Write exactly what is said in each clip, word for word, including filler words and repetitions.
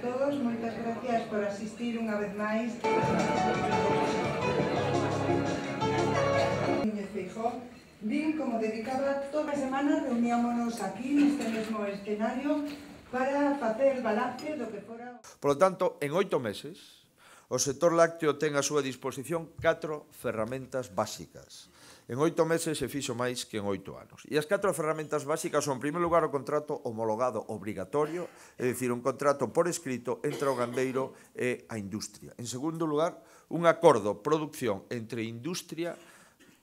todos, moitas gracias por asistir unha vez máis. Núñez Feijóo, vin como dedicaba toda a semana, reuníamonos aquí neste mesmo escenario para facer balance do que fora... Por lo tanto, en oito meses, o sector lácteo ten a súa disposición catro ferramentas básicas. En oito meses se fixo máis que en oito anos. E as catro ferramentas básicas son, en primeiro lugar, o contrato homologado obrigatorio, é dicir, un contrato por escrito entre o gandeiro e a industria. En segundo lugar, un acordo producción entre industria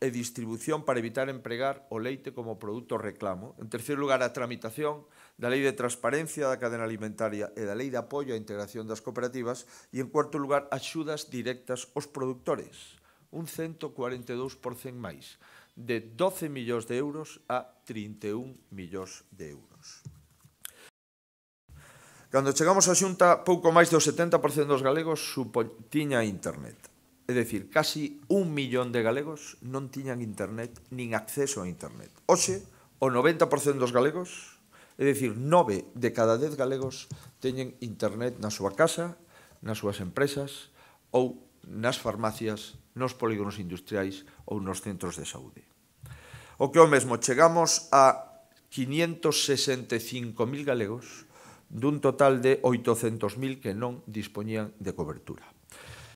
e distribución para evitar empregar o leite como produto reclamo. En terceiro lugar, a tramitación da Lei de Transparencia da Cadena Alimentaria e da Lei de Apoio á Integración das Cooperativas. E, en cuarto lugar, axudas directas aos produtores. Un ciento cuarenta e dous por cento máis, de doce millóns de euros a trinta e un millóns de euros. Cando chegamos á Xunta, pouco máis do setenta por cento dos galegos tiña internet. É dicir, casi un millón de galegos non tiñan internet nin acceso a internet. Hoxe, o noventa por cento dos galegos, é dicir, nove de cada dez galegos teñen internet na súa casa, nas súas empresas ou nas farmacias, nos polígonos industriais ou nos centros de saúde. O que o mesmo, chegamos a quinientos sesenta e cinco mil galegos dun total de oitocentos mil que non dispoñían de cobertura.